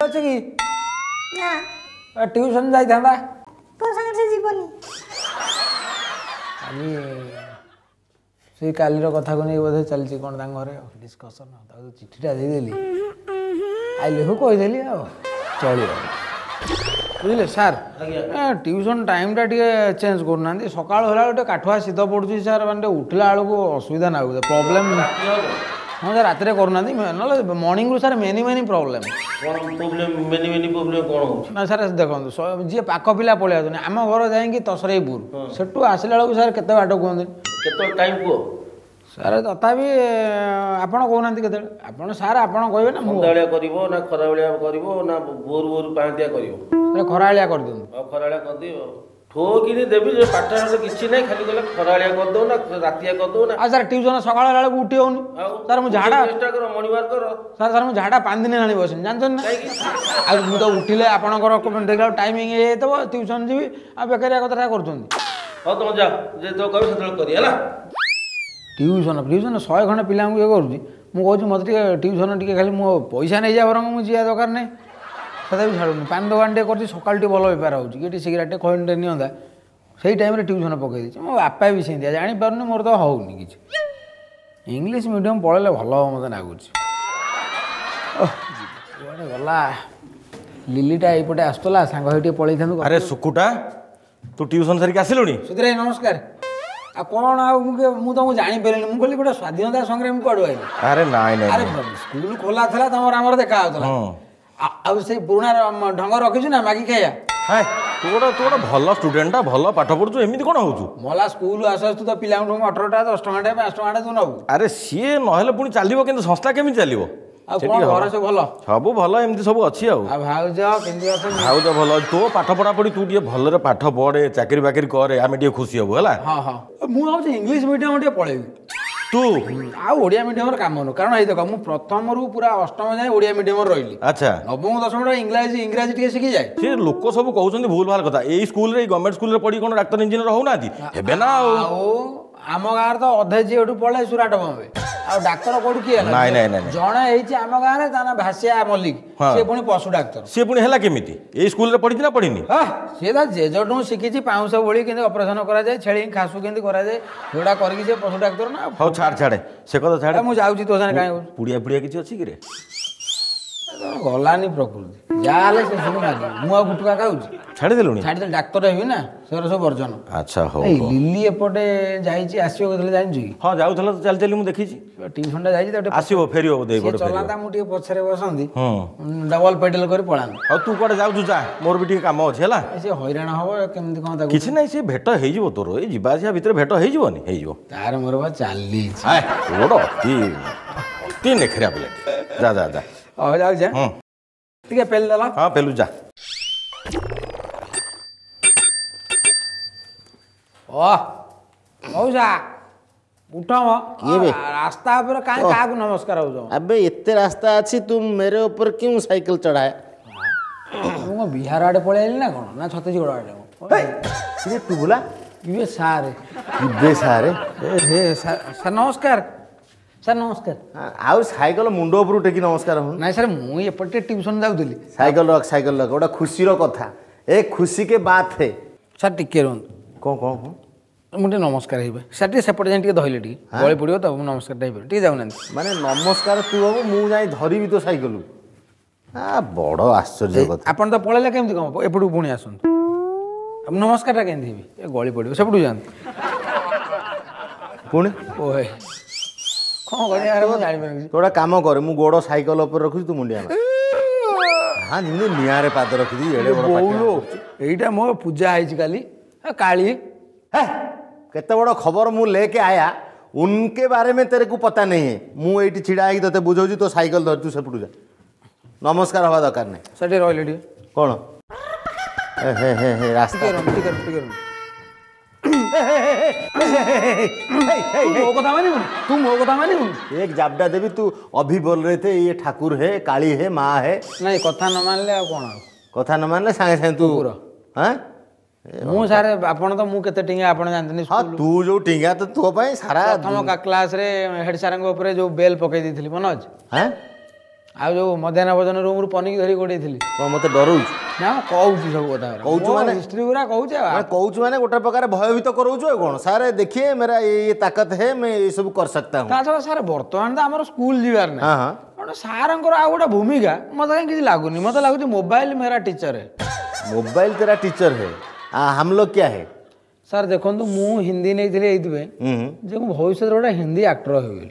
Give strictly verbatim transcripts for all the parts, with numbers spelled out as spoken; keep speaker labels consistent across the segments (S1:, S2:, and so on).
S1: ଅଛି କି?
S2: ନା।
S1: ଟ୍ୟୁସନ୍ ଯାଇଥାନ୍ତା।
S2: ତୋ ସାଙ୍ଗରେ ସେ ଯିବନି।
S1: କାଲି ସେଇ କାଲିର କଥାକୁ ନେଇ ବୋଧେ ଚାଲିଛି କ'ଣ ତାଙ୍କ ଘରେ ଡିସ୍କସନ୍। ତାକୁ ଚିଠିଟା ଦେଇଦେଲି, ଆଇଲେକୁ କହିଦେଲି, ଆଉ ଚଳିବ। ବୁଝିଲେ ସାର୍, ଟ୍ୟୁସନ୍ ଟାଇମ୍ଟା ଟିକେ ଚେଞ୍ଜ କରୁନାହାନ୍ତି। ସକାଳୁ ହେଲା ଗୋଟେ କାଠୁଆ ଶୀତ ପଡ଼ୁଛି ସାର୍, ମାନେ ଟିକେ ଉଠିଲା ବେଳକୁ ଅସୁବିଧା ଲାଗୁଛି, ପ୍ରୋବ୍ଲେମ୍। ହଁ ସାର୍, ରାତିରେ କରୁନାହାନ୍ତି, ନହେଲେ ମର୍ଣ୍ଣିଂରୁ ସାର୍ ମେନି ମେନି ପ୍ରୋବ୍ଲେମ୍।
S3: କ'ଣ ପ୍ରୋବ୍ଲେମ୍? ମେନି ମେନି ପ୍ରୋବ୍ଲେମ୍ କ'ଣ ହେଉଛି?
S1: ନା ସାର୍, ଦେଖନ୍ତୁ, ଯିଏ ପାଖ ପିଲା ପଳେଇ ଆସୁଛନ୍ତି। ଆମ ଘର ଯାଇକି ତସରେଇପୁର, ସେଠୁ ଆସିଲା ବେଳକୁ ସାର୍ କେତେ ବାଟ କୁହନ୍ତି?
S3: କେତେବେଳେ ଟାଇମ୍ କୁହ
S1: ସାର୍। ତଥାପି ଆପଣ କହୁନାହାନ୍ତି କେତେବେଳେ ଆପଣ ସାର୍ ଆପଣ କହିବେ ନା।
S3: ସନ୍ଧ୍ୟାବେଳିଆ କରିବ ନା ଖରାବେଳିଆ କରିବ ନା ଭୋରୁ ଭୋରୁ ପାହାନ୍ତିଆ କରିବ?
S1: ସାର୍, ଖରାବେଳିଆ କରିଦିଅନ୍ତୁ।
S3: ଆଉ ଖରାବେଳିଆ କରିଦିଅ। ଠୋକିନି ଦେବି ଯେ, ପାଠ କିଛି ନାହିଁ, ଖାଲି କହିଲେ ଖରାବେଳିଆ କରିଦଉ ନା ରାତିଆ କରିଦଉ ନା।
S1: ଆଉ ସାର୍, ଟ୍ୟୁସନ୍ ସକାଳ ହେଲା ବେଳକୁ ଉଠି ହେଉନି ସାର୍। ମୁଁ ଝାଡ଼ା
S3: ଚେଷ୍ଟା କର, ମର୍ଣ୍ଣିଂ କର।
S1: ସାର୍ ସାର୍ ମୁଁ ଝାଡ଼ା ପାଞ୍ଚ ଦିନ ହେଲାଣି ବସିନି, ଜାଣିଛନ୍ତି ନା? ଆଉ ମୁଁ ତ ଉଠିଲେ ଆପଣଙ୍କର ଦେଖିଲା ଟାଇମିଂ ହେଇଯାଇଥିବ, ଟ୍ୟୁସନ୍ ଯିବି, ଆଉ ବେକାରିଆ କଥାଟା କରୁଛନ୍ତି।
S3: ହଉ, ତମେ ଯାଅ, ଯେତେବେଳେ କହିବ ସେତେବେଳେ କରି ହେଲା।
S1: ଟ୍ୟୁସନ୍ ଫ୍ୟୁସନ୍ ଶହେ ଖଣ୍ଡେ ପିଲାଙ୍କୁ ଇଏ କରୁଛି। ମୁଁ କହୁଛି ମୋତେ ଟିକେ ଟ୍ୟୁସନ୍ ଟିକେ ଖାଲି ମୋ ପଇସା ନେଇଯା, ବରଂ ମୁଁ ଯିବା ଦରକାର ନାହିଁ। ତଥାପି ଛାଡ଼ୁନି। ପାନ ଦୋକାନ ଟିକେ କରୁଛି, ସକାଳୁ ଟିକେ ଭଲ ବେପାର ହେଉଛି କି ଟିକେ ସିଗାରେଟ୍ ଖଇନିଟେ ନିଅନ୍ତା, ସେଇ ଟାଇମ୍ରେ ଟ୍ୟୁସନ୍ ପକାଇ ଦେଇଛି। ମୋ ବାପା ବି ସେମିତିଆ, ଜାଣିପାରୁନି ମୋର ତ ହେଉନି କିଛି। ଇଂଲିଶ ମିଡ଼ିୟମ୍ ପଳେଇଲେ ଭଲ ହେବ ମୋତେ ଲାଗୁଛି। କୁଆଡ଼େ ଗଲା ଲିଲିଟା? ଏଇପଟେ ଆସୁଥିଲା, ସାଙ୍ଗ ହେଇ ଟିକେ ପଳେଇଥାନ୍ତୁ।
S3: ଆରେ ସୁକୁଟା, ତୁ ଟ୍ୟୁସନ୍ ସାରିକି ଆସିଲୁଣି?
S1: ସୁଧୀର ଭାଇ ନମସ୍କାର। ଆଉ କ'ଣ, ଆଉ ମୁଁ ମୁଁ ତମକୁ ଜାଣିପାରିଲିନି। ମୁଁ କହିଲି ଗୋଟେ ସ୍ୱାଧୀନତା ସଂଗ୍ରାମୀ କୁଆଡ଼ୁ ଆଇଲି?
S3: ଆରେ ନାଇଁ ନାଇଁ,
S1: ଆରେ ସ୍କୁଲ ଖୋଲା ଥିଲା, ତମର ଆମର ଦେଖା ହେଉଥିଲା। ଆଉ ସେଇ ପୁରୁଣା ଢଙ୍ଗ ରଖିଛୁ ନା ମାଗି ଖାଇବା?
S3: ତୁ ଗୋଟେ ତୁ ଗୋଟେ ଭଲ ଷ୍ଟୁଡେଣ୍ଟଟା, ଭଲ ପାଠ ପଢୁଛୁ, ଏମିତି କ'ଣ ହଉଛୁ?
S1: ମଲା ସ୍କୁଲ ଆସୁ ଆସୁ ତ ପିଲାଙ୍କଠୁ ଅଠରଟା, ଦଶ ଟଙ୍କାଟେ, ପାଞ୍ଚ ଟଙ୍କାଟେ ତୁ ନେବୁ।
S3: ଆରେ ସିଏ ନହେଲେ ପୁଣି ଚାଲିବ କିନ୍ତୁ ସଂସ୍ଥା କେମିତି ଚାଲିବ?
S1: ଆଉ କ'ଣ, ଘରେ ସବୁ ଭଲ?
S3: ସବୁ ଭଲ, ଏମିତି ସବୁ ଅଛି। ଆଉ
S1: ଆଉ ଭାଉଜ କେମିତି ଅଛନ୍ତି?
S3: ଭାଉଜ ଭଲ ଅଛି। ତୋ ପାଠ ପଢ଼ାପଢ଼ି, ତୁ ଟିକେ ଭଲରେ ପାଠ ପଢ଼େ, ଚାକିରି ବାକିରି କରେ, ଆମେ ଟିକେ ଖୁସି ହବୁ ହେଲା।
S1: ହଁ ହଁ, ମୁଁ ଭାବୁଛି ଇଂଲିଶ ମିଡ଼ିୟମ ଟିକେ ପଳେଇବି।
S3: ତୁ
S1: ଆଉ ଓଡ଼ିଆ ମିଡ଼ିୟମର କାମ ନୁହଁ, କାରଣ ଏଇ ଦେଖ, ମୁଁ ପ୍ରଥମରୁ ପୁରା ଅଷ୍ଟମ ଯାଏଁ ଓଡ଼ିଆ ମିଡ଼ିୟମରେ ରହିଲି।
S3: ଆଚ୍ଛା।
S1: ନବମ ଦଶମଟା ଇଂରାଜୀ ଇଂରାଜୀ ଟିକେ ଶିଖିଯାଏ।
S3: ସେ ଲୋକ ସବୁ କହୁଛନ୍ତି ଭୁଲ ଭାଲ କଥା। ଏଇ ସ୍କୁଲରେ, ଏଇ ଗଭର୍ଣ୍ଣମେଣ୍ଟ ସ୍କୁଲରେ ପଢି କ'ଣ ଡାକ୍ତର ଇଞ୍ଜିନିୟର ହଉନାହାନ୍ତି? ହେବେ ନା। ଆଉ
S1: ଆଉ ଆମ ଗାଁରେ ତ ଅଧେ ଯିଏ ଏଠୁ ପଳେଇ ସୁରାଟ ବମ୍ବେ, ଆଉ ଡାକ୍ତର କୋଉଠି କିଏ ହେଲା?
S3: ନାଇଁ ନାଇଁ ନାଇଁ,
S1: ଜଣେ ହେଇଛି ଆମ ଗାଁରେ, ତା ନାଁ ଭାସିଆ ମଲ୍ଲିକ, ସିଏ ପୁଣି ପଶୁ ଡାକ୍ତର।
S3: ସିଏ ପୁଣି ହେଲା କେମିତି? ଏଇ ସ୍କୁଲରେ ପଢିଛି ନା ପଢିନି?
S1: ସିଏ ତା ଜେଜଠୁ ଶିଖିଛି ପାଉଁଶ ବୋଳି କେମିତି ଅପରେସନ କରାଯାଏ, ଛେଳି ଖାସୁ କେମିତି କରାଯାଏ, ସେଗୁଡ଼ା କରିକି ସେ ପଶୁ ଡାକ୍ତର ନା।
S3: ହଉ ଛାଡ଼ ଛାଡ଼େ ସେ କଥା ଛାଡ଼େ।
S1: ମୁଁ ଯାଉଛି, ତୋ ସାଙ୍ଗରେ କାହିଁ?
S3: ପୁଡ଼ିଆ ଫୁଡ଼ିଆ କିଛି ଅଛି କି ରେ?
S1: ଗଲାନି ପ୍ରକୃତି, ଯାହା ହେଲେ ସେ ସବୁ ମାଗିବ। ମୁଁ ଆଉ ଗୁଟୁକା ଖାଉଛି?
S3: ଛାଡ଼ିଦେଲୁଣି?
S1: ଛାଡ଼ିଦେଲି, ଡାକ୍ତର ହେବି ନା, ସେଗୁଡ଼ା ସବୁ ବର୍ଜନ।
S3: ଆଚ୍ଛା ହଉ।
S1: ଲିଲି ଏପଟେ ଯାଇଛି, ଆସିବ କେତେବେଳେ ଜାଣିଛୁ କି?
S3: ହଁ, ଯାଉଥିଲା ତ ଚାଲି ଚାଲି, ମୁଁ ଦେଖିଛି।
S1: ଟ୍ୟୁସନଟା ଯାଇଛି ତ,
S3: ଆସିବ, ଫେରିବ ବୋଧେ ଏପଟେ।
S1: ଚଲାନ୍ତା, ମୁଁ ଟିକେ ପଛରେ ବସନ୍ତି, ଡବଲ ପେଡାଲ କରି ପଳାନ୍ତି।
S3: ହଉ, ତୁ କୁଆଡ଼େ ଯାଉଛୁ ଯା, ମୋର ବି ଟିକେ କାମ ଅଛି ହେଲା।
S1: ସେ ହଇରାଣ ହବ କେମିତି କ'ଣ ତାକୁ?
S3: କିଛି ନାହିଁ, ସେ ଭେଟ ହେଇଯିବ ତୋର, ଏଇ ଯିବା ଆସିବା ଭିତରେ ଭେଟ ହେଇଯିବନି? ହେଇଯିବ।
S1: ତାର ମୋର ବା ଚାଲିଛି।
S3: ତୁ ଗୋଟେ ଅତି ଅତି ନେଖରିଆ ପିଲାଟି। ଯା ଯା ଯା।
S1: ହଉ, ଯାଉଛି। ଟିକେ ପେଲି ଦେଲା।
S3: ହଁ, ପେଲୁ ଯା।
S1: ଓ ମଉସା, ଉଠ ମ।
S4: କିଏ ବେ?
S1: ରାସ୍ତା ଉପରେ କାହିଁ କାହାକୁ ନମସ୍କାର ହଉଛ?
S4: ଆବେ ଏତେ ରାସ୍ତା ଅଛି, ତୁ मेरे ऊपर क्यों ସାଇକେଲ ଚଢାଏ?
S1: ମୁଁ କ'ଣ ବିହାର ଆଡ଼େ ପଳେଇ ଆଇଲି ନା କ'ଣ, ନା ଛତିଶଗଡ଼ ଆଡ଼େ?
S4: ଟୁବୁଲା
S1: ଇଏ ସାର୍।
S4: ଇବେ ସାର୍?
S1: ହେ ସାର୍ ନମସ୍କାର। ସାର୍ ନମସ୍କାର।
S4: ଆଉ ସାଇକେଲ ମୁଣ୍ଡ ଉପରୁ ଟେକି ନମସ୍କାର ହଉନି?
S1: ନାଇଁ ସାର୍, ମୁଁ ଏପଟେ ଟିକେ ଟ୍ୟୁସନ୍ ଯାଉଥିଲି।
S4: ସାଇକେଲ ରଖ, ସାଇକେଲ ରଖ। ଗୋଟେ ଖୁସିର କଥା, ଏ ଖୁସି କେ ବାତ ହେ।
S1: ସାର୍ ଟିକେ ରୁହନ୍ତୁ।
S4: କ'ଣ କ'ଣ କ'ଣ?
S1: ମୁଁ ଟିକେ ନମସ୍କାର ହେଇବେ ସାର୍, ଟିକେ ସେପଟେ ଯାଇ ଟିକେ ଧଇଲେ ଟିକେ ଗଳି ପଡ଼ିବ ତ, ମୁଁ ନମସ୍କାରଟା ହେଇପାରିବ। ଟିକେ ଯାଉନାହାନ୍ତି।
S4: ମାନେ ନମସ୍କାର ତୁ ହବୁ, ମୁଁ ଯାଇ ଧରିବି ତୋ ସାଇକେଲ? ଆ ବଡ଼ ଆଶ୍ଚର୍ଯ୍ୟ କଥା।
S1: ଆପଣ ତ ପଳେଇଲେ କେମିତି କ'ଣ? ଏପଟକୁ ପୁଣି ଆସନ୍ତୁ। ନମସ୍କାରଟା କେମିତି ହେବି? ଏ ଗଳି ପଡ଼ିବ, ସେପଟକୁ ଯାଆନ୍ତୁ
S4: ପୁଣି।
S1: ଓହେ, କ'ଣ କରିବା ମୁଁ ଜାଣିପାରିବି।
S4: ତୁ ଗୋଟେ କାମ କରେ, ମୁଁ ଗୋଡ଼ ସାଇକେଲ ଉପରେ ରଖୁଛି, ତୁ ମୁଣ୍ଡିଆ ମାର। ହଁ, ଯେମିତି ନିଆଁରେ ପାଦ ରଖିଛି ଏଡ଼େ ବଡ଼।
S1: ଏଇଟା ମୋ ପୂଜା ହେଇଛି କାଲି, କାଳି।
S4: ହେ, କେତେ ବଡ଼ ଖବର ମୁଁ ଲେକେ ଆୟା, उनके बारे में तेरे को पता नहीं है। ମୁଁ ଏଇଠି ଛିଡ଼ା ହେଇକି ତତେ ବୁଝାଉଛି, ତୋ ସାଇକେଲ ଧରି ତୁ ସେପଟୁ ଯା, ନମସ୍କାର ହବା ଦରକାର ନାହିଁ।
S1: ସେଠି ରହିଲେ ଟିକେ
S4: କ'ଣ? ହେ ହେ ହେ, ରାସ୍ତା
S1: ଟିକେ ଟିକେ। ମୋ କଥା ମାନିବୁନି ତୁ? ମୋ କଥା ମାନିବୁନି?
S4: एक जाबड़ा देवी। तू अभी बोल रहे थे ये ठाकुर है, काली है, माँ है।
S1: ନାଇଁ, କଥା ନ ମାନିଲେ ଆଉ କ'ଣ? ଆଉ
S4: କଥା ନ ମାନିଲେ ସାଙ୍ଗେ ସାଙ୍ଗେ ତୁ ହଁ।
S1: ମୁଁ ସାର୍, ଆପଣ ତ ମୁଁ କେତେ ଟିଙ୍ଗା ଆପଣ ଜାଣିଛନ୍ତି।
S4: ହଁ, ତୁ ଯୋଉ ଟିଙ୍ଗା ତ ତୋ ପାଇଁ ସାରା।
S1: ପ୍ରଥମ କ୍ଲାସରେ ହେଡ୍ ସାର୍ଙ୍କ ଉପରେ ଯୋଉ ବେଲ୍ ପକେଇ ଦେଇଥିଲି ମନେ ଅଛି?
S4: ହଁ।
S1: ଆଉ ଯୋଉ ମଧ୍ୟାହ୍ନ ଭୋଜନ ରୁମରୁ ପନିକି ଧରି ଗୋଡେଇଥିଲି।
S4: କଣ ମତେ ଡରଉଛୁ?
S1: ନା, ମୁଁ କହୁଛି ସବୁ କଥା।
S4: କହୁଛୁ ମାନେ?
S1: ହିଷ୍ଟ୍ରି ଗୁରା କହୁଛି ଆଉ।
S4: ମାନେ କହୁଛୁ ମାନେ ଗୋଟେ ପ୍ରକାର ଭୟଭୀତ କରଉଛୁ ଆଉ କ'ଣ? ସାର୍ देखिए, मेरा ये ये ताकत है, मैं ये सब कर सकता हूँ।
S1: ତା ଛଡ଼ା ସାର୍, ବର୍ତ୍ତମାନ ତ ଆମର ସ୍କୁଲ ଯିବାର ନାହିଁ।
S4: ହଁ ହଁ
S1: କାରଣ ସାରଙ୍କର ଆଉ ଗୋଟେ ଭୂମିକା ମତେ କାହିଁ କିଛି ଲାଗୁନି। ମତେ ଲାଗୁଛି ମୋବାଇଲ मेरा ଟିଚର।
S4: मोबाइल तेरा टीचर है, आ, हम लोग क्या है?
S1: ସାର୍ ଦେଖନ୍ତୁ, ମୁଁ ହିନ୍ଦୀ ନେଇଥିଲି ଏଇଥିପାଇଁ
S4: ହୁଁ
S1: ଯେ ମୁଁ ଭବିଷ୍ୟତରେ ଗୋଟେ ହିନ୍ଦୀ ଆକ୍ଟର ହେବି ବୋଲି।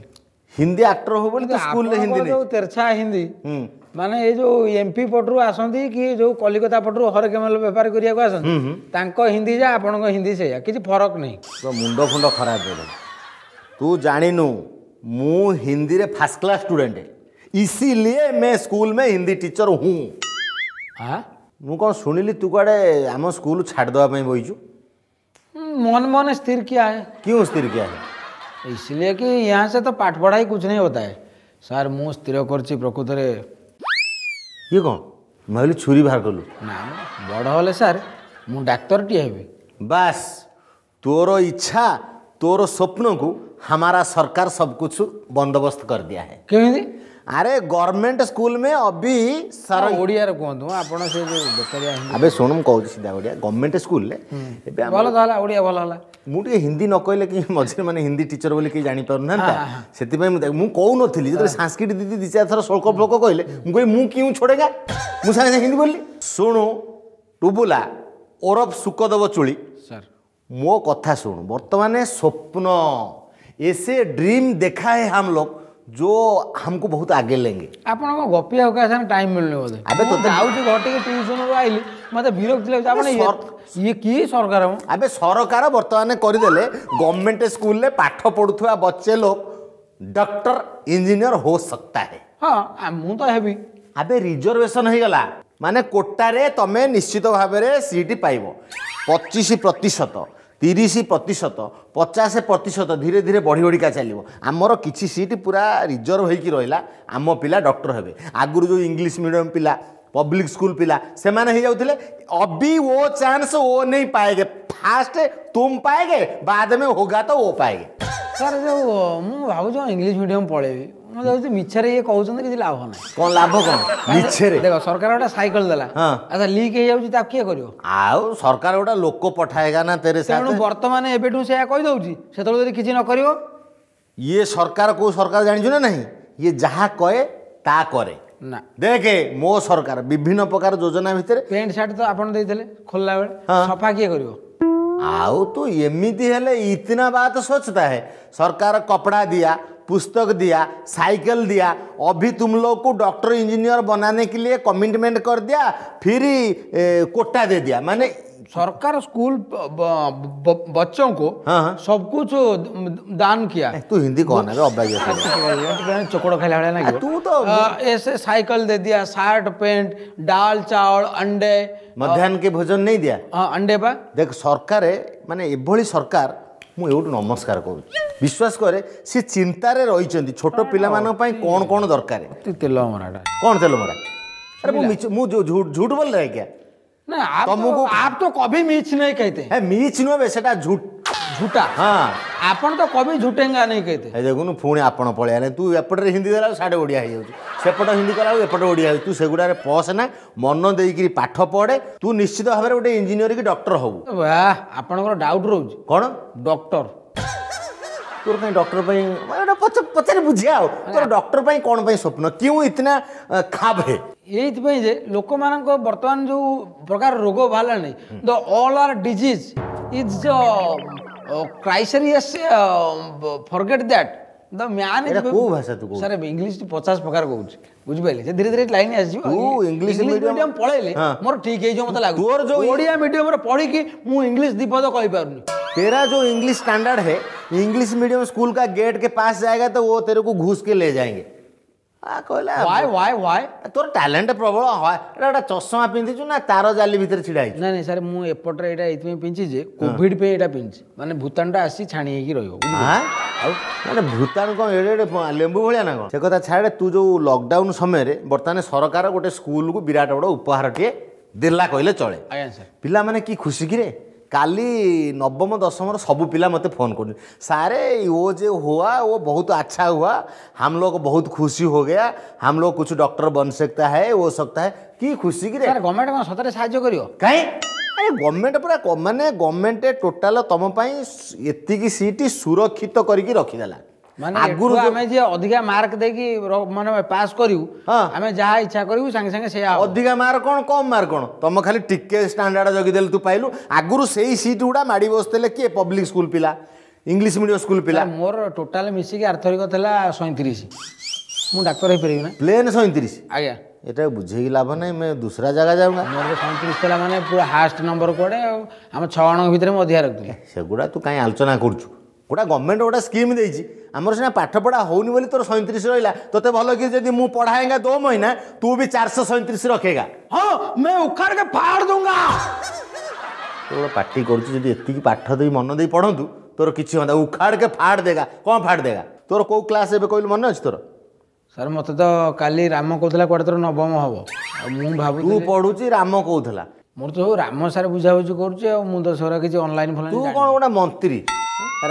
S4: ହିନ୍ଦୀ ଆକ୍ଟର ହବ ବୋଲି ତୁ ସ୍କୁଲରେ ହିନ୍ଦୀ
S1: ଆପଣଙ୍କର ଯୋଉ ତେରଛା ହିନ୍ଦୀ,
S4: ହୁଁ
S1: ମାନେ ଏଇ ଯୋଉ ଏମପି ପଟରୁ ଆସନ୍ତି କି ଯୋଉ କଲିକତା ପଟରୁ ହରକେମଲ ବେପାର କରିବାକୁ ଆସନ୍ତି, ତାଙ୍କ ହିନ୍ଦୀ ଯା ଆପଣଙ୍କ ହିନ୍ଦୀ ସେଇଆ, କିଛି ଫରକ ନାହିଁ।
S4: ତୋ ମୁଣ୍ଡ ଫୁଣ୍ଡ ଖରାପ ବୋଧେ। ତୁ ଜାଣିନୁ, ମୁଁ ହିନ୍ଦୀରେ ଫାର୍ଷ୍ଟ କ୍ଲାସ୍ ଷ୍ଟୁଡେଣ୍ଟ, इसीलिए मैं स्कूल में हिंदी टीचर हूँ।
S1: ଆଁ
S4: ମୁଁ କ'ଣ ଶୁଣିଲି, ତୁ କୁଆଡ଼େ ଆମ ସ୍କୁଲ ଛାଡ଼ିଦେବା ପାଇଁ ବଇଛୁ?
S1: मन मन स्थिर किया है।
S4: क्यों स्थिर किया है?
S1: इसलिए कि यहाँ से तो पाठ पढ़ाई कुछ नहीं होता है ସାର୍। ମୁଁ ସ୍ଥିର କରିଛି ପ୍ରକୃତରେ।
S4: ଇଏ କ'ଣ? ମୁଁ ଭାବିଲି ଛୁରୀ ବାହାର କଲୁ।
S1: ନା, ବଡ଼ ହେଲେ ସାର୍ ମୁଁ ଡାକ୍ତରଟିଏ ହେବି।
S4: ବାସ୍, ତୋର ଇଚ୍ଛା, ତୋର ସ୍ୱପ୍ନକୁ हमारा सरकार सब कुछ बंदोबस्त कर दिया है।
S1: କେମିତି?
S4: अरे गवर्नमेंट स्कूल में अभी सर
S1: ଓଡ଼ିଆରେ କୁହନ୍ତୁ, ଆପଣ ସେ ଯୋଉ ବେକାରିଆ ହିନ୍ଦୀ।
S4: ଆବେ ଶୁଣ, ମୁଁ କହୁଛି ସିଧା ଓଡ଼ିଆ। ଗଭର୍ଣ୍ଣମେଣ୍ଟ ସ୍କୁଲରେ ଏବେ ଆମର
S1: ଭଲ ତ ହେଲା, ଓଡ଼ିଆ ଭଲ ହେଲା।
S4: ମୁଁ ଟିକେ ହିନ୍ଦୀ ନ କହିଲେ କି ମଝିରେ ମାନେ ହିନ୍ଦୀ ଟିଚର ବୋଲି କେହି ଜାଣିପାରୁନାହାନ୍ତି, ସେଥିପାଇଁ ମୁଁ ମୁଁ କହୁନଥିଲି। ଯେତେବେଳେ ସାଂସ୍କ୍ରିଟ ଦିଦି ଦି ଚାରି ଥର ଶ୍ଳୋକ ଫ୍ଲୋକ କହିଲେ, ମୁଁ କହିଲି ମୁଁ क्यों छोड़ेगा, ମୁଁ ସାଙ୍ଗେ ସାଙ୍ଗେ ହିନ୍ଦୀ ବୋଲିଲି। ଶୁଣୁ ଟୁବୁଲା ଓରଫ ସୁକଦେବ ଚୁଳି,
S1: ସାର୍।
S4: ମୋ କଥା ଶୁଣୁ। ବର୍ତ୍ତମାନ ସ୍ୱପ୍ନ, ऐसे ड्रीम देखा है हम लोग जो हमको बहुत आगे लेंगे।
S1: ଆପଣଙ୍କ ଗପିବାକୁ କାହା ସାଙ୍ଗେ ଟାଇମ୍ ମିଳୁନି ବୋଧେ।
S4: ଆବେ
S1: ମୁଁ
S4: ତୋତେ-
S1: ଯାଉଛି ଘର ଟିକେ, ଟ୍ୟୁସନରୁ ଆଇଲି, ମତେ ବିରକ୍ତି ଲାଗୁଛି। ଆପଣ ଇଏ- ଇଏ କି ସରକାର ମ?
S4: ଆବେ ସରକାର ବର୍ତ୍ତମାନ କରିଦେଲେ, ଗଭର୍ଣ୍ଣମେଣ୍ଟ ସ୍କୁଲରେ ପାଠ ପଢୁଥିବା बच्चे लोग डॉक्टर इंजीनियर हो सकता है।
S1: ହଁ, ଆ, ମୁଁ ତ ହେବି।
S4: ଆବେ ରିଜର୍ଭେସନ ହେଇଗଲା, ମାନେ କୋଟାରେ ତମେ ନିଶ୍ଚିତ ଭାବରେ ସିଟ୍ ପାଇବ। ପଚିଶ ପ୍ରତିଶତ, ତିରିଶ ପ୍ରତିଶତ, ପଚାଶ ପ୍ରତିଶତ, ଧୀରେ ଧୀରେ ବଢ଼ି ବଢ଼ିକା ଚାଲିବ। ଆମର କିଛି ସିଟ୍ ପୁରା ରିଜର୍ଭ ହେଇକି ରହିଲା, ଆମ ପିଲା ଡକ୍ଟର ହେବେ। ଆଗରୁ ଯେଉଁ ଇଂଲିଶ ମିଡ଼ିୟମ ପିଲା, ପବ୍ଲିକ ସ୍କୁଲ ପିଲା, ସେମାନେ ହେଇଯାଉଥିଲେ, अभी वो चांस वो नहीं पाएंगे। फास्ट तुम पाएंगे, बाद में होगा तो वो पाएंगे।
S1: ସାର୍, ଯୋଉ ମୁଁ ଭାବୁଛି ଇଂଲିଶ ମିଡ଼ିୟମ ପଳେଇବି। ମୁଁ ଭାବୁଛି ମିଛରେ ଇଏ କହୁଛନ୍ତି, କିଛି ଲାଭ ନାହିଁ।
S4: କ'ଣ ଲାଭ କ'ଣ ମିଛରେ?
S1: ଦେଖ, ସରକାର ଗୋଟେ ସାଇକେଲ ଦେଲା।
S4: ହଁ।
S1: ଆଚ୍ଛା, ଲିକ୍ ହେଇଯାଉଛି, ତାକୁ କିଏ କରିବ?
S4: ଆଉ ସରକାର ଗୋଟେ ଲୋକ ପଠାଏଗା ନା तेरे
S1: ତେଣୁ
S4: ସାଥ।
S1: ବର୍ତ୍ତମାନ ଏବେଠୁ ସେଇଆ କହିଦଉଛି, ସେତେବେଳେ ଯଦି କିଛି ନ କରିବ?
S4: ଇଏ ସରକାର କୋଉ ସରକାର ଜାଣିଛୁ ନା ନାହିଁ? ଇଏ ଯାହା କହେ ତା କରେ।
S1: ନା।
S4: ଦେଖେ, ମୋ ସରକାର ବିଭିନ୍ନ ପ୍ରକାର ଯୋଜନା ଭିତରେ
S1: ପ୍ୟାଣ୍ଟ ସାର୍ଟ ତ ଆପଣ ଦେଇଥିଲେ ଖୋଲିଲା ବେଳେ,
S4: ହଁ।
S1: ସଫା କିଏ କରିବ?
S4: ଆଉ ତୁ ଏମିତି ହେଲେ इतना बात सोचता है। सरकार कपड़ा दिया, पुस्तक दिया, साइकिल दिया, अभी तुम लोग को डॉक्टर इंजीनियर बनाने के लिए कमिटमेंट कर दिया, फिर ए, कोटा दे दिया, माने
S1: सरकार स्कूल ब- ब- बच्चों को
S4: हाँ, हाँ।
S1: सब कुछ दान किया।
S4: तू हिंदी कौन है अବାଗିଆ।
S1: ଚୋକଡ଼ ଖାଇଲା ଭଳିଆ ଲାଗିବ।
S4: ତୁ ତ
S1: ଅ, ऐसे साइकिल दे दिया, शर्ट पैंट, दाल चावल, अंडे।
S4: ମଧ୍ୟାହ୍ନ के भोजन नहीं दिया?
S1: ହଁ, अंडे ପା।
S4: ଦେଖ, ସରକାର ମାନେ ଏଭଳି ସରକାର, ମୁଁ ଏଇଠୁ ନମସ୍କାର କରୁଛି। ବିଶ୍ୱାସ କରେ, ସେ ଚିନ୍ତାରେ ରହିଛନ୍ତି ଛୋଟ ପିଲାମାନଙ୍କ ପାଇଁ କ'ଣ କ'ଣ ଦରକାର।
S1: ଅତି ତେଲ ମରାଟା।
S4: କ'ଣ ତେଲ ମରା? ଆରେ ମୁଁ ମିଛ ମୁଁ जो झूठ झूठ बोल रहा है क्या?
S1: ना, आप तो
S4: ତମକୁ-
S1: आप तो कभी मिछ नहीं कहते।
S4: ହେ, ମିଛ ନୁହେଁ ବେ, ସେଟା ଝୁଟ।
S1: झूठा।
S4: ହଁ।
S1: ଆପଣ ତ कभी झूठेंगा नहीं कहते।
S4: ଏ ଦେଖୁନୁ, ପୁଣି ଆପଣ ପଳେଇ ଆଇଲେ। ତୁ ଏପଟରେ ହିନ୍ଦୀ ଦେଲା ସାଡ଼େ ଓଡ଼ିଆ ହେଇଯାଉଛି, ସେପଟ ହିନ୍ଦୀ କଲା ବେଳକୁ ଏପଟେ ଓଡ଼ିଆ ହେଇଯାଉଛି। ତୁ ସେଗୁଡ଼ାରେ ପଶନା, ମନ ଦେଇକିରି ପାଠ ପଢ଼େ। ତୁ ନିଶ୍ଚିତ ଭାବରେ ଗୋଟେ ଇଞ୍ଜିନିୟର କି ଡକ୍ଟର ହବୁ।
S1: ବାह, ଆପଣଙ୍କର ଡାଉଟ୍ ରହୁଛି।
S4: କ'ଣ?
S1: ଡକ୍ଟର।
S4: ତୋର କାହିଁ ଡକ୍ଟର ପାଇଁ ମାନେ ଏଇଟା ପଚ- ପଚାରି ବୁଝିବା। ଆଉ ତୋର ଡକ୍ଟର ପାଇଁ କ'ଣ ପାଇଁ ସ୍ୱପ୍ନ? क्यों इतना ଅ, ख्वाब है?
S1: ଏଇଥିପାଇଁ ଯେ ଲୋକମାନଙ୍କ ବର୍ତ୍ତମାନ ଯୋଉ ପ୍ରକାର ରୋଗ ବାହାରିଲାଣି, the all are disease is crisis, forget that the man.
S4: ଏଇଟା କୋଉ ଭାଷା ତୁ କହୁଛୁ?
S1: ସାର୍, ଇଂଲିଶ ପଚାଶ ପ୍ରକାର କହୁଛି, ବୁଝିପାରିଲେ? ସେ ଧୀରେ ଧୀରେ ଲାଇନ୍ ଆସିଯିବ।
S4: ତୁ ଇଂଲିଶ medium-
S1: medium ପଳେଇଲେ
S4: ହଁ।
S1: ମୋର ଠିକ ହେଇଯିବ ମତେ ଲାଗୁଛି।
S4: ତୋର ଯୋଉ
S1: ଓଡ଼ିଆ ମିଡିୟମରେ ପଢିକି ମୁଁ ଇଂଲିଶ ଦି ପଦ କହିପାରୁନି।
S4: तेरा जो इंग्लिश स्टैंडर्ड है, इंग्लिश मीडियम स्कूल का गेट के पास जाएगा तो वो तेरे को घुस के ले जाएंगे। ଆ କହିଲା।
S1: Why why why?
S4: ତୋର ଟ୍ୟାଲେଣ୍ଟ ପ୍ରବଳ। ହଁ, ଏଟା ଗୋଟେ ଚଷମା ପିନ୍ଧିଛୁ ନା ତାର ଜାଲି ଭିତରେ ଛିଡ଼ା ହେଇଛୁ?
S1: ନାଇଁ ନାଇଁ ସାର୍, ମୁଁ ଏପଟରେ ଏଇଟା ଏଇଥିପାଇଁ ପିନ୍ଧିଛି ଯେ କୋଭିଡ ପାଇଁ ଏଇଟା ପିନ୍ଧିଛି, ମାନେ ଭୂତାଣୁଟା ଆସି ଛାଣି ହେଇକି ରହିବ, ବୁଝିପାରିଲେ?
S4: ଆଁ? ଆଉ ମାନେ ଭୂତାଣୁ କ'ଣ ଏଡ଼େ ଏଡ଼େ ଲେମ୍ବୁ ଭଳିଆ ନା କ'ଣ? ସେ କଥା ଛାଡ଼େ। ତୁ ଯୋଉ ଲକଡାଉନ ସମୟରେ ବର୍ତ୍ତମାନ ସରକାର ଗୋଟେ ସ୍କୁଲକୁ ବିରାଟ ବଡ଼ ଉପହାରଟିଏ ଦେଲା କହିଲେ ଚଳେ।
S1: ଆଜ୍ଞା ସାର୍।
S4: ପିଲାମାନେ କି ଖୁସି କିରେ। କାଲି ନବମ ଦଶମର ସବୁ ପିଲା ମୋତେ ଫୋନ୍ କରୁଛନ୍ତି, ସାରେ वो जो हुआ वो बहुत अच्छा हुआ, हम लोग बहुत खुशी हो गया, हम लोग कुछ डॉक्टर बन सकता है, वो सकता है। କି ଖୁସି କି ରେ?
S1: ସାର୍, ଗଭର୍ଣ୍ଣମେଣ୍ଟ କ'ଣ ସତରେ ସାହାଯ୍ୟ କରିବ?
S4: କାହିଁ, ଆରେ ଗଭର୍ଣ୍ଣମେଣ୍ଟ ପୁରା କ- ମାନେ ଗଭର୍ଣ୍ଣମେଣ୍ଟ ଟୋଟାଲ ତମ ପାଇଁ ଏତିକି ସିଟ୍ ସୁରକ୍ଷିତ କରିକି ରଖିଦେଲା।
S1: ମାନେ
S4: ଆଗରୁ
S1: ଆଗରୁ
S4: ଯୋଉ-
S1: ଆମେ ଯିଏ ଅଧିକା ମାର୍କ ଦେଇକି ର- ମାନେ ପାସ୍ କରିବୁ,
S4: ହଁ।
S1: ଆମେ ଯାହା ଇଚ୍ଛା କରିବୁ ସାଙ୍ଗେ ସାଙ୍ଗେ ସେଇଆ ହବ।
S4: ଅଧିକା ମାର୍କ କ'ଣ, କମ୍ ମାର୍କ କ'ଣ, ତମ ଖାଲି ଟିକେ ଷ୍ଟାଣ୍ଡାର୍ଡ ଜଗିଦେଲେ ତୁ ପାଇଲୁ। ଆଗରୁ ସେଇ ସିଟ୍ ଗୁଡ଼ା ମାଡ଼ି ବସିଥିଲେ କିଏ? ପବ୍ଲିକ ସ୍କୁଲ ପିଲା, ଇଂଲିଶ ମିଡ଼ିୟମ ସ୍କୁଲ ପିଲା।
S1: ସାର୍, ମୋର ଟୋଟାଲ ମିଶିକି ଆରଥରିକ ଥିଲା ସଇଁତିରିଶ। ମୁଁ ଡାକ୍ତର ହେଇପାରିବି ନା?
S4: ପ୍ଲେନ୍ ସଇଁତିରିଶ?
S1: ଆଜ୍ଞା।
S4: ଏଟା ବୁଝେଇକି ଲାଭ ନାହିଁ, मैं दूसरा ଜାଗା जाऊंगा।
S1: ମୋର ସଇଁତିରିଶ ଥିଲା, ମାନେ ପୁରା ହାଏଷ୍ଟ ନମ୍ବର କୁଆଡ଼େ, ଆଉ ଆମ ଛଅ ଜଣଙ୍କ ଭିତରେ ମୁଁ ଅଧିକା ରଖିଥିଲି।
S4: ସେଗୁଡ଼ା ତୁ କାହିଁ ଆଲୋଚନା କରୁଛୁ? ଗୋଟା ଗଭର୍ଣ୍ଣମେଣ୍ଟ ଗୋଟେ ସ୍କିମ୍ ଦେଇଛି। ଆମର ସିନା ପାଠପଢ଼ା ହଉନି ବୋଲି ତୋର ସଇଁତିରିଶ ରହିଲା। ତୋତେ ଭଲ କି ଯଦି ମୁଁ पढ़ाएंगा दो महीना, तू भी ଚାରିଶହ ସଇଁତିରିଶ रखेगा।
S1: ହଁ, मैं उखाड़ के फाड़ दूंगा।
S4: ତୁ ଗୋଟେ ପାଟି କରୁଛୁ, ଯଦି ଏତିକି ପାଠ ଦେଇ ମନ ଦେଇ ପଢ଼ନ୍ତୁ ତୋର କିଛି ହୁଅନ୍ତା। उखाड़ के फाड़ देगा, କ'ଣ फाड़ देगा? ତୋର କୋଉ କ୍ଲାସ୍ ଏବେ କହିଲୁ, ମନେ ଅଛି ତୋର?
S1: ସାର୍, ମୋତେ ତ କାଲି ରାମ କହୁଥିଲା କୁଆଡ଼େ ତୋର ନବମ ହବ, ଆଉ ମୁଁ
S4: ତୁ
S1: ଭାବୁଥିଲି
S4: ପଢ଼ୁଛି, ରାମ କହୁଥିଲା?
S1: ମୋର ତ ସବୁ ରାମ ସାର୍ ବୁଝାବୁଝି କରୁଛି, ଆଉ ମୁଁ ତ ସେଗୁଡ଼ା କିଛି ଅନଲାଇନ୍
S4: ତୁ
S1: ଫନଲାଇନ୍
S4: କ'ଣ ଗୋଟେ ମନ୍ତ୍ରୀ,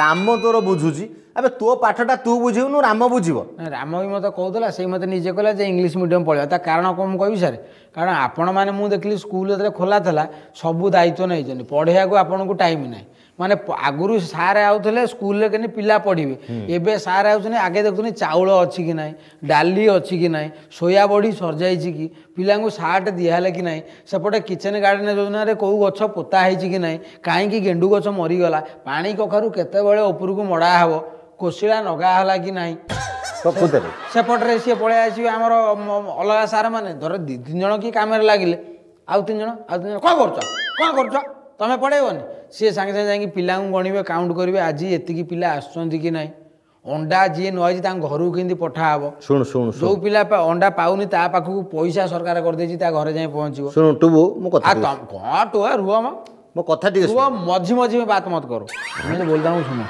S4: ରାମ ତୋର ବୁଝୁଛି? ଆବେ, ତୋ ପାଠଟା ତୁ ବୁଝିବୁନୁ, ରାମ ବୁଝିବ?
S1: ନା, ରାମ ବି ମୋତେ କହୁଥିଲା। ସେଇ ମୋତେ ନିଜେ କହିଲା ଯେ ଇଂଲିଶ ମିଡ଼ିୟମ୍ ପଳେଇବା। ତା କାରଣ କ'ଣ ମୁଁ କହିବି ସାର୍? କାରଣ ଆପଣମାନେ, ମୁଁ ଦେଖିଲି ସ୍କୁଲ ଯେତେବେଳେ ଖୋଲା ଥିଲା, ସବୁ ଦାୟିତ୍ୱ ନେଇଛନ୍ତି, ପଢ଼େଇବାକୁ ଆପଣଙ୍କୁ ଟାଇମ୍ ନାହିଁ। ମାନେ ପ- ଆଗରୁ ସାର୍ ଆଉଥିଲେ ସ୍କୁଲରେ କେମିତି ପିଲା ପଢ଼ିବେ, ଏବେ ସାର୍ ଆଉଛନ୍ତି ଆଗେ ଦେଖୁଛନ୍ତି ଚାଉଳ ଅଛି କି ନାହିଁ, ଡାଲି ଅଛି କି ନାହିଁ, ସୋୟା ବଡ଼ି ସରିଯାଇଛି କି, ପିଲାଙ୍କୁ ସାର୍ଟ ଦିଆହେଲା କି ନାହିଁ, ସେପଟେ କିଚେନ୍ ଗାର୍ଡେନ୍ ଯୋଜନାରେ କେଉଁ ଗଛ ପୋତା ହେଇଛି କି ନାହିଁ, କାହିଁକି ଗେଣ୍ଡୁ ଗଛ ମରିଗଲା, ପାଣି କଖାରୁ କେତେବେଳେ ଉପରକୁ ମଡ଼ା ହେବ, କୋଶିଳା ନଗା ହେଲା କି ନାହିଁ।
S4: ପ୍ରକୃତରେ
S1: ସେପଟରେ ସିଏ ପଳେଇ ଆସିବେ ଆମର ମ- ଅଲଗା ସାର୍ ମାନେ, ଧର ଦୁଇ ତିନି ଜଣ କି କାମରେ ଲାଗିଲେ, ଆଉ ତିନି ଜଣ ଆଉ ତିନି ଜଣ କ'ଣ କରୁଛ, କ'ଣ କରୁଛ, ତମେ ପଢ଼େଇବନି? ସିଏ ସାଙ୍ଗେ ସାଙ୍ଗେ ଯାଇକି ପିଲାଙ୍କୁ ଗଣିବେ, କାଉଣ୍ଟ କରିବେ ଆଜି ଏତିକି ପିଲା ଆସୁଛନ୍ତି କି ନାହିଁ, ଅଣ୍ଡା ଯିଏ ନ ହେଇଛି ତାଙ୍କ ଘରକୁ କେମିତି ପଠା ହବ।
S4: ଶୁଣୁ ଶୁଣୁ ଶୁଣୁ।
S1: ଯୋଉ ପିଲା ପା- ଅଣ୍ଡା ପାଉନି ତା ପାଖକୁ ପଇସା ସରକାର କରିଦେଇଛି, ତା ଘରେ ଯାଇ ପହଞ୍ଚିବ।
S4: ଶୁଣୁ ଟୁବୁ, ମୋ କଥା
S1: ଆଉ
S4: ଟିକେ
S1: ତମ କ'ଣ ଟୁଆ, ରୁହ ମ।
S4: ମୋ କଥା ଟିକେ
S1: ରୁହ, ମଝି ମଝି में बात मत करो। ମୁଁ बोलता हूँ, ଶୁଣ,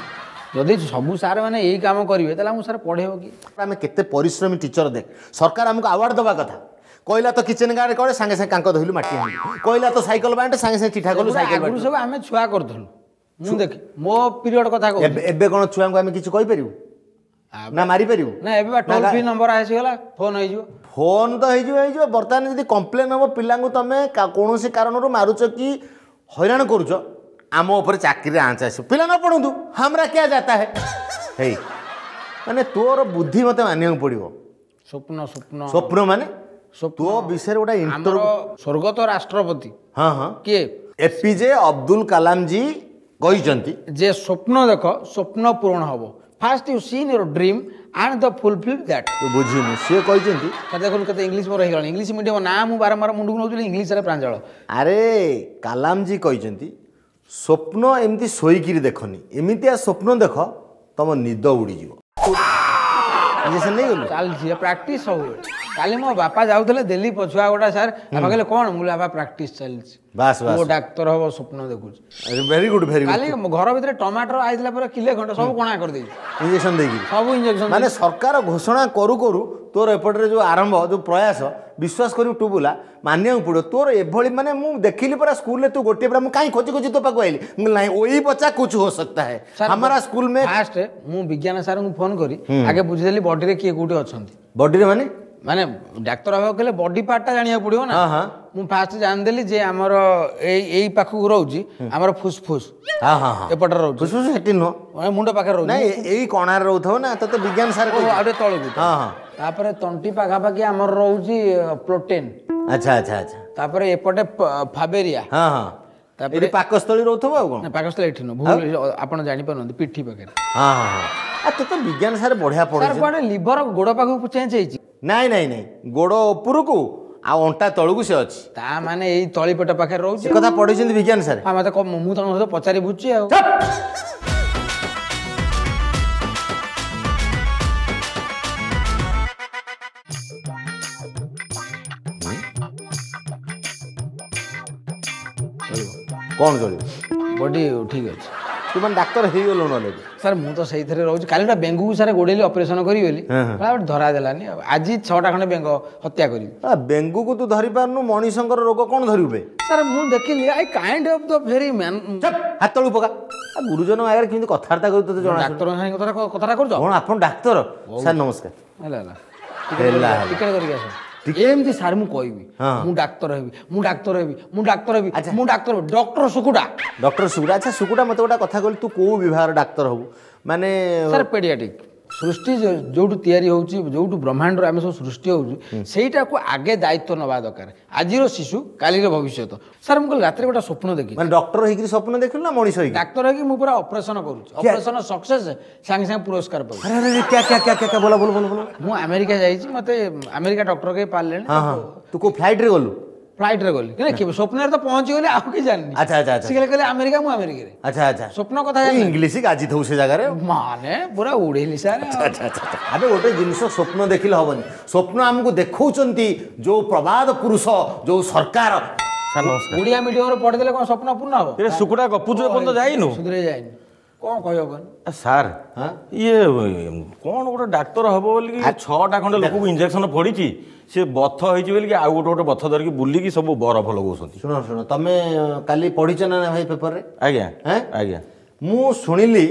S1: ଯଦି ସବୁ ସାର୍ ମାନେ ଏଇ କାମ କରିବେ ତାହେଲେ ଆମକୁ ସାର୍ ପଢ଼େଇବ କି?
S4: ଆମେ କେତେ ପରିଶ୍ରମୀ ଟିଚର ଦେଖ, ସରକାର ଆମକୁ ଆୱାର୍ଡ ଦେବା କଥା। କହିଲା ତ କିଚେନ୍ ଗାର୍ଡ କରେ, ସାଙ୍ଗେ ସାଙ୍ଗେ କାଙ୍କ ଧୋଇଲୁ, ମାଟି ହାଣିଲୁ। କହିଲା ତ ସାଇକେଲ ବାଣ୍ଟେ, ସାଙ୍ଗେ ସାଙ୍ଗେ ଚିଠା କଲୁ,
S1: ସେଗୁଡ଼ା
S4: ସାଇକେଲ
S1: ଆଗରୁ
S4: ବାଣ୍ଟିଲୁ।
S1: ସବୁ ଆମେ ଛୁଆ କରୁଥିଲୁ। ମୁଁ ଦେଖି ମୋ ପିରିୟଡ଼ କଥା କହୁଛି।
S4: ଏବେ ଏବେ କ'ଣ ଛୁଆଙ୍କୁ ଆମେ କିଛି କହିପାରିବୁ ନା ମାରିପାରିବୁ?
S1: ନା, ଏବେ ବା ଟୋଲ୍ ଫ୍ରି ନମ୍ବର ଆସିଗଲା, ଫୋନ୍ ହେଇଯିବ।
S4: ଫୋନ୍ ତ ହେଇଯିବ ହେଇଯିବ, ବର୍ତ୍ତମାନ ଯଦି କମ୍ପ୍ଲେନ୍ ହେବ ପିଲାଙ୍କୁ ତମେ କା- କୌଣସି କାରଣରୁ ମାରୁଛ କି ହଇରାଣ କରୁଛ, ଆମ ଉପରେ ଚାକିରିରେ ଆଞ୍ଚ ଆସିବ। ପିଲା ନ ପଢ଼ନ୍ତୁ, हमरा क्या जाता है। ହେଇ, ମାନେ ତୋର ବୁଦ୍ଧି ମୋତେ ମାନିବାକୁ ପଡ଼ିବ।
S1: ସ୍ୱପ୍ନ ସ୍ୱପ୍ନ।
S4: ସ୍ୱପ୍ନ ମାନେ
S1: ସ୍ୱପ୍ନ।
S4: ତୋ ବିଷୟରେ ଗୋଟେ
S1: ଆମର
S4: ଇଣ୍ଟରଭ୍ୟୁ
S1: ସ୍ୱର୍ଗତ ରାଷ୍ଟ୍ରପତି
S4: ହଁ ହଁ
S1: କିଏ?
S4: ଏପିଜେ ଅବଦୁଲ କାଲାମ ଜି କହିଛନ୍ତି
S1: ଯେ ସ୍ୱପ୍ନ ଦେଖ, ସ୍ୱପ୍ନ ପୂରଣ ହବ। First you seen your dream and the fulfil that.
S4: ତୁ ବୁଝିନୁ, ସିଏ କହିଛନ୍ତି
S1: ସାର୍, ଦେଖନ୍ତୁ କେତେ ଇଂଲିଶ ମୋର ହେଇଗଲାଣି। ଇଂଲିଶ ମିଡ଼ିୟମ ନା ମୁଁ ବାରମ୍ବାର ମୁଣ୍ଡକୁ ନେଉଥିଲି, ଇଂଲିଶରେ ପ୍ରାଞ୍ଜଳ।
S4: ଆରେ, କାଲାମଜି କହିଛନ୍ତି ସ୍ୱପ୍ନ ଏମିତି ଶୋଇକିରି ଦେଖନି, ଏମିତିଆ ସ୍ୱପ୍ନ ଦେଖ ତମ ନିଦ ଉଡ଼ିଯିବ। ଇଞ୍ଜେକ୍ସନ ନେଇଗଲୁ?
S1: ଚାଲିଛି ପ୍ରାକ୍ଟିସ୍ ସବୁବେଳେ। କାଲି ମୋ ବାପା ଯାଉଥିଲେ ଦିଲ୍ଲୀ ପଛୁଆ ଗୋଟା ସାର୍, ବାପା କହିଲେ କ'ଣ? ମୁଁ କହିଲି ବାପା, ପ୍ରାକ୍ଟିସ୍ ଚାଲିଛି।
S4: ବାସ୍ ବାସ୍।
S1: ପୁଅ ଡାକ୍ତର ହବ ସ୍ୱପ୍ନ ଦେଖୁଛି।
S4: ଭେରି ଗୁଡ୍, ଭେରି
S1: କାଲି
S4: ଗୁଡ୍।
S1: ଘର ଭିତରେ ଟମାଟର ଆଇଥିଲା ପୁରା କିଲେ ଖଣ୍ଡେ, ସବୁ କଣା କରିଦେଇଛି।
S4: ଇଞ୍ଜେକ୍ସନ ଦେଇକି?
S1: ସବୁ ଇଞ୍ଜେକ୍ସନ।
S4: ମାନେ ସରକାର ଘୋଷଣା କରୁ କରୁ ତୋର ଏପଟରେ ଯେଉଁ ଆରମ୍ଭ, ଯେଉଁ ପ୍ରୟାସ, ବିଶ୍ୱାସ କରିବୁ ଟୁବୁଲା, ମାନିବାକୁ ପଡ଼ିବ ତୋର ଏଭଳି। ମାନେ ମୁଁ ଦେଖିଲି ପରା ସ୍କୁଲରେ ତୁ ଗୋଟିଏ ପରା, ମୁଁ କାହିଁ ଖୋଜି ଖୋଜି ତୋ ପାଖକୁ ଆଇଲି। ମୁଁ କହିଲି, ନାଇଁ, वही बच्चा कुछ हो सकता है हमारा स्कूल में।
S1: ଫାଷ୍ଟ ମୁଁ ବିଜ୍ଞାନ ସାରଙ୍କୁ ଫୋନ କରି ଆଗେ ବୁଝିଦେଲି ବଡିରେ କିଏ କୋଉଠି ଅଛନ୍ତି।
S4: ବଡିରେ ମାନେ?
S1: ମାନେ ଡାକ୍ତର ହବାକୁ ହେଲେ ବଡି ପାର୍ଟଟା ଜାଣିବାକୁ ପଡ଼ିବ ନା।
S4: ହଁ ହଁ
S1: ମୁଁ ଫାଷ୍ଟ ଜାଣିଦେଲି ଯେ ଆମର ଏଇ ଏଇ ପାଖକୁ ରହୁଛି ଆମର ଫୁସଫୁସ।
S4: ହଁ ହଁ ହଁ
S1: ଏପଟରେ ରହୁଛି।
S4: ଫୁସଫୁସ ସେଠି ନୁହଁ।
S1: ମାନେ ମୁଣ୍ଡ ପାଖରେ ରହୁଛି।
S4: ନାଇଁ, ଏଇ କଣାରେ ରହୁଥିବ ନା, ତୋତେ ବିଜ୍ଞାନ ସାର୍
S1: ଓ,
S4: କହିଛି।
S1: ଆଉ ଟିକେ ତଳକୁ।
S4: ହଁ ହଁ
S1: ତାପରେ ତଣ୍ଟି ପାଖାପାଖି ଆମର ରହୁଛି ପ୍ରୋଟିନ୍।
S4: ଆଚ୍ଛା ଆଚ୍ଛା ଆଚ୍ଛା
S1: ତାପରେ ଏପଟେ ପ- ଫାବେରିଆ।
S4: ହଁ ହଁ
S1: ତାପରେ
S4: ଏଠି ପାକସ୍ଥଳୀ ରହୁଥିବ ଆଉ କ'ଣ?
S1: ନା, ପାକସ୍ଥଳୀ ଏଠି ନୁହଁ, ଭୁଲ, ଆପଣ ଜାଣିପାରୁନାହାନ୍ତି, ପିଠି ପାଖରେ।
S4: ହଁ ହଁ ହଁ ଆ ତୋତେ ବିଜ୍ଞାନ ସାର୍ ବଢିଆ
S1: ସାର୍,
S4: ପଢୁଛି।
S1: କୁଆଡ଼େ ଲିଭର ଗୋଡ଼ ପାଖକୁ ଚେଞ୍ଜ ହେଇଛି?
S4: ନାଇଁ ନାଇଁ ନାଇଁ, ଗୋଡ଼ ଉପରକୁ ଆଉ ଅଣ୍ଟା ତଳକୁ ସେ ଅଛି।
S1: ତା ମାନେ ଏଇ ତଳି ପେଟ ପାଖରେ ରହୁଛି।
S4: ସେ କଥା ପଢିଛନ୍ତି ବିଜ୍ଞାନ ସାର୍।
S1: ହଁ, ମତେ କ- ମୁଁ ତମ ସହିତ ପଚାରି ବୁଝୁଛି ଆଉ।
S4: ଚୁପ୍! କ'ଣ ଚଳିବ?
S1: ବଡି ଠିକ ଅଛି।
S4: ତୁ ମାନେ ଡାକ୍ତର ହେଇଗଲୁଣୁ ଅଲରେଡି।
S1: ସାର୍ ମୁଁ ତ ସେଇଥିରେ ରହୁଛି। କାଲି ଗୋଟେ ବେଙ୍ଗକୁ ସାର୍ ଗୋଡ଼େଇଲି ଅପରେସନ୍ କରିବି ବୋଲି, ଧରା ଦେଲାନି। ଆଉ ଆଜି ଛଅଟା ଖଣ୍ଡେ ବେଙ୍ଗ ହତ୍ୟା କରିବି।
S4: ବେଙ୍ଗକୁ ତୁ ଧରି ପାରୁନୁ, ମଣିଷଙ୍କର ରୋଗ କ'ଣ ଧରିବୁ ବେ?
S1: ସାର୍ ମୁଁ ଦେଖିଲି I kind of the very man.
S4: ହାତ ତଳକୁ ପକା। ଗୁରୁଜନ ଆଗରେ କେମିତି କଥାବାର୍ତ୍ତା କରୁ ତୋତେ ଜଣା?
S1: ଡାକ୍ତରଙ୍କ ସାଙ୍ଗେ କଥା କଥାଟା କରୁଛ
S4: କ'ଣ? ଆପଣ ଡାକ୍ତର ସାର୍ ନମସ୍କାର।
S1: ହେଲା ହେଲା
S4: ହେଲା,
S1: ଟିକେଟ କରିକି ଆସ। ଏମିତି ସାର୍ ମୁଁ କହିବି ମୁଁ ଡାକ୍ତର ହେବି, ମୁଁ ଡାକ୍ତର ହେବି, ମୁଁ ଡାକ୍ତର ହେବି, ମୁଁ ଡାକ୍ତର, ଡକ୍ଟର ସୁକୁଟା,
S4: ଡକ୍ଟର ସୁକୁଟା। ଆଚ୍ଛା ସୁକୁଟା, ମୋତେ ଗୋଟେ କଥା କହିଲୁ, ତୁ କୋଉ ବିଭାଗର ଡାକ୍ତର ହବୁ? ମାନେ
S1: ସାର୍ ପେଡ଼ିଆଟିକ୍। ସୃଷ୍ଟି ଯେଉଁଠୁ ତିଆରି ହେଉଛି, ଯେଉଁଠୁ ବ୍ରହ୍ମାଣ୍ଡରୁ ଆମେ ସବୁ ସୃଷ୍ଟି ହେଉଛୁ, ସେଇଟାକୁ ଆଗେ ଦାୟିତ୍ୱ ନେବା ଦରକାର। ଆଜିର ଶିଶୁ କାଲିର ଭବିଷ୍ୟତ। ସାର୍ ମୁଁ କହିଲି ରାତିରେ ଗୋଟେ ସ୍ୱପ୍ନ ଦେଖିଲି।
S4: ମାନେ ଡକ୍ଟର ହେଇକିରି ସ୍ୱପ୍ନ ଦେଖିଲୁ ନା ମଣିଷ ହେଇକି?
S1: ଡାକ୍ତର ହେଇକି ମୁଁ ପୁରା ଅପରେସନ କରୁଛି, ଅପରେସନ ସକ୍ସେସ୍, ସାଙ୍ଗେ ସାଙ୍ଗେ ପୁରସ୍କାର ପାଉଛି।
S4: ବୋଲ ବୋଲ ବୋଲ ବୋଲ।
S1: ମୁଁ ଆମେରିକା ଯାଇଛି, ମୋତେ ଆମେରିକା ଡକ୍ଟର କେହି ପାରିଲେଣି।
S4: ତୁ କୋଉ ଫ୍ଲାଇଟ୍ରେ ଗଲୁ?
S1: ଫ୍ଲାଇଟ୍ରେ ଗଲି, ସ୍ୱପ୍ନରେ ତ ପହଞ୍ଚିଗଲି, ଆଉ କିଛି ଜାଣିନି।
S4: ଆଚ୍ଛା ଆଚ୍ଛା।
S1: ସେ କହିଲେ ଆମେରିକା, ମୁଁ ଆମେରିକାରେ।
S4: ଆଚ୍ଛା ଆଚ୍ଛା।
S1: ସ୍ୱପ୍ନ କଥା
S4: ଇଂଲିଶ ଗାଜିଥିବୁ ସେ ଜାଗାରେ।
S1: ମାନେ ପୁରା ଉଡ଼େଇଲି ସାର୍।
S4: ଆଚ୍ଛା ଆଚ୍ଛା। ଆବେ ଗୋଟେ ଜିନିଷ ସ୍ୱପ୍ନ ଦେଖିଲେ ହବନି, ସ୍ୱପ୍ନ ଆମକୁ ଦେଖାଉଛନ୍ତି ଯୋଉ ପ୍ରବାଦ ପୁରୁଷ, ଯୋଉ ସରକାର।
S3: ସାର୍ ନମସ୍କାର।
S1: ଓଡ଼ିଆ ମିଡ଼ିୟମରେ ପଢ଼ିଦେଲେ କ'ଣ ସ୍ୱପ୍ନ ପୂର୍ଣ୍ଣ ହବ?
S3: ଏ ସୁକୁଟା ଗପୁଛୁ ଏପର୍ଯ୍ୟନ୍ତ ଯାଇନୁ?
S1: ସୁଧୁରେ ଯାଇନି, କ'ଣ କହିବ କହନି
S3: ସାର୍? ଇଏ କ'ଣ ଗୋଟେ ଡାକ୍ତର ହବ ବୋଲିକି ଛଅଟା ଖଣ୍ଡେ ଲୋକକୁ ଇଞ୍ଜେକ୍ସନ ଫୋଡ଼ିଛି, ସେ ବଥ ହେଇଛି ବୋଲିକି ଆଉ ଗୋଟେ ଗୋଟେ ବଥ ଧରିକି ବୁଲିକି ସବୁ ବରଫ ଲଗାଉଛନ୍ତି।
S4: ଶୁଣ ଶୁଣ, ତମେ କାଲି ପଢ଼ିଛ ନା ଭାଇ ପେପରରେ?
S3: ଆଜ୍ଞା ଆଜ୍ଞା।
S4: ମୁଁ ଶୁଣିଲି